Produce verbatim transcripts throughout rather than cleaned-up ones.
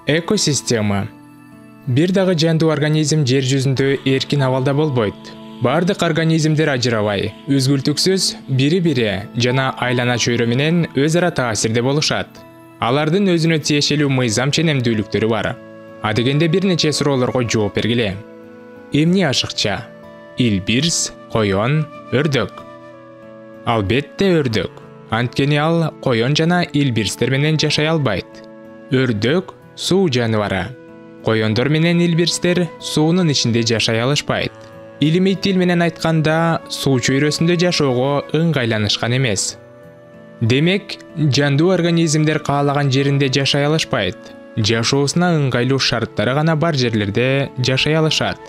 Экосистема. Бир дагы жандуу организм жер жүзүндө эркин абалда болбойт. Бардык организмдер ажырабай, үзгүлтүксүз бири-бири жана айлана чөйрө менен өз ара таасирде болушат. Алардын өзүнө тиешелүү мыйзам ченемдүүлүктөрү бар. Адегенде бир нече суроолорго жооп бергиле. Эмне ашыкча? Илбирс, коён, өрдүк. Албетте өрдүк. Анткени ал коён жана илбирстер менен жашай албайт. Өрдүк суу жаныбары. Коёндор менен илбирстер суунун ичинде жашай алышпайт. Илимий тил менен айтканда, суу чөйрөсүндө жашоого ыңгайланышкан эмес. Демек, жандуу организмдер каалаган жеринде жашай алышпайт. Жашоосуна ыңгайлуу шарттары гана бар жерлерде жашай алышат.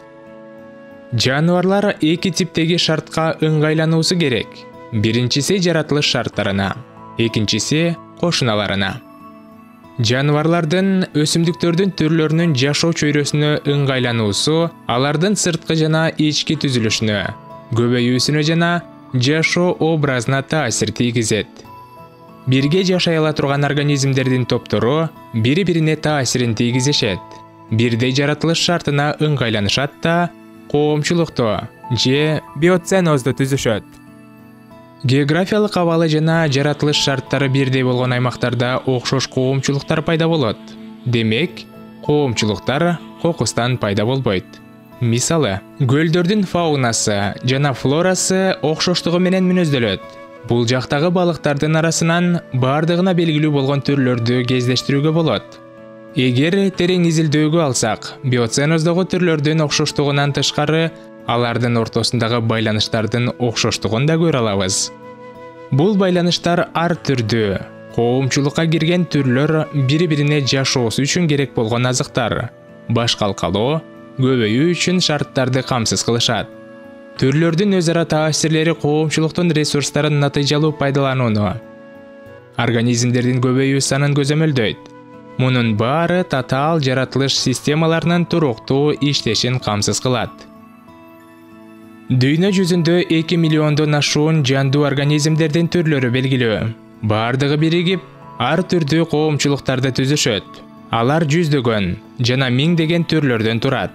Жаныбарлар эки типтеги шартка ыңгайлануусу керек. Биринчиси жаратылыш шарттарына, экинчиси кошуналарына. Жаныбарлардын, өсүмдүктөрдүн түрлөрүнүн жашоо чөйрөсүнө ыңгайлануусу алардын сырткы жана ички түзүлүшүнө, көбөйүүсүнө жана жашоо образына таасир тийгизет. Бирге жашай ала турган организмдердин топтору бири-бирине таасирин тийгизишет. Бирдей жаратылыш шартына ыңгайланышат да коомчулукту же биоценозду түзүшөт. Географиялык абалы жана жаратылыш шарттары бирдей болгон аймактарда окшош коомчулуктар пайда болот. Демек, коомчулуктар кокустан пайда болбойт. Мисалы, көлдөрдүн фаунасы жана флорасы окшоштугу менен мүнөздөлөт. Бул жактагы балыктардын арасынан бардыгына белгилүү болгон түрлөрдү кездештирүүгө болот. Эгер терең изилдөөгө алсак, биоценоздогу түрлөрдүн окшоштугунан тышкары, алардын ортосундагы байланыштардын окшоштугун да көрө алабыз. Бул байланыштар ар түрдүү. Коомчулукка кирген түрлөр бири-бирине жашоосу үчүн керек болгон азыктар, баш калкалоо, көбөйүү үчүн шарттарды камсыз кылышат. Түрлөрдүн өз ара таасирлери коомчулуктун ресурстарын натыйжалуу пайдаланууну, организмдердин көбөйүү санын көзөмөлдөйт. Мунун баары татаал жаратылыш системаларынын туруктуу иштешин камсыз кылат. Дүйнө жүзүндө эки миллиондон ашуун жандуу организмдердин түрлөрү белгилүү. Бардыгы биригип, ар түрдүү коомчулуктарды түзүшөт. Алар жүздөгөн жана миңдеген түрлөрдөн турат.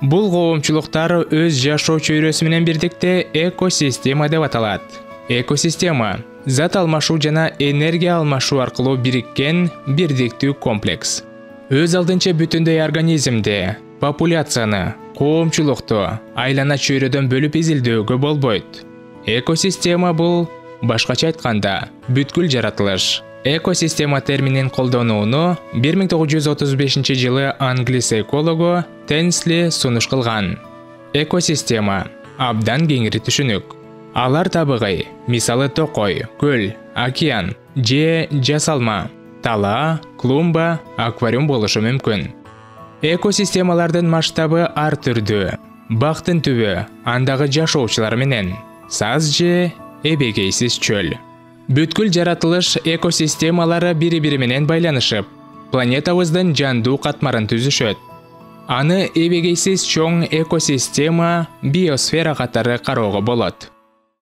Бул коомчулуктар өз жашоо чөйрөсү менен бирдикте экосистема деп аталат. Экосистема – зат алмашуу жана энергия алмашуу аркылуу бириккен бирдиктүү комплекс. Өз алдынча бүтүндөй организмди, популяцияны, коомчулукту айлана чөйрөдөн бөлүп изилдөөгө болбойт. Экосистема бул, башкача айтканда, бүткүл жаратылыш. Экосистема терминин колдонууну бир миң тогуз жүз отуз бешинчи жылы англис экологу Тенсли сунуш кылган. Экосистема абдан кеңири түшүнүк. Алар табыгый, мисалы токой, көл, океан же жасалма, тала, клумба, аквариум болушу мүмкүн. Экосистемалардын масштабы ар түрдүү. Бактын түбү, андагы жашоочулар менен, саз же эбегейсиз чөл. Бүткүл жаратылыш экосистемалары бири-бири менен байланышып, планетабыздын жандуу катмарын түзүшөт. Аны эбегейсиз чоң экосистема, биосфера катары кароого болот.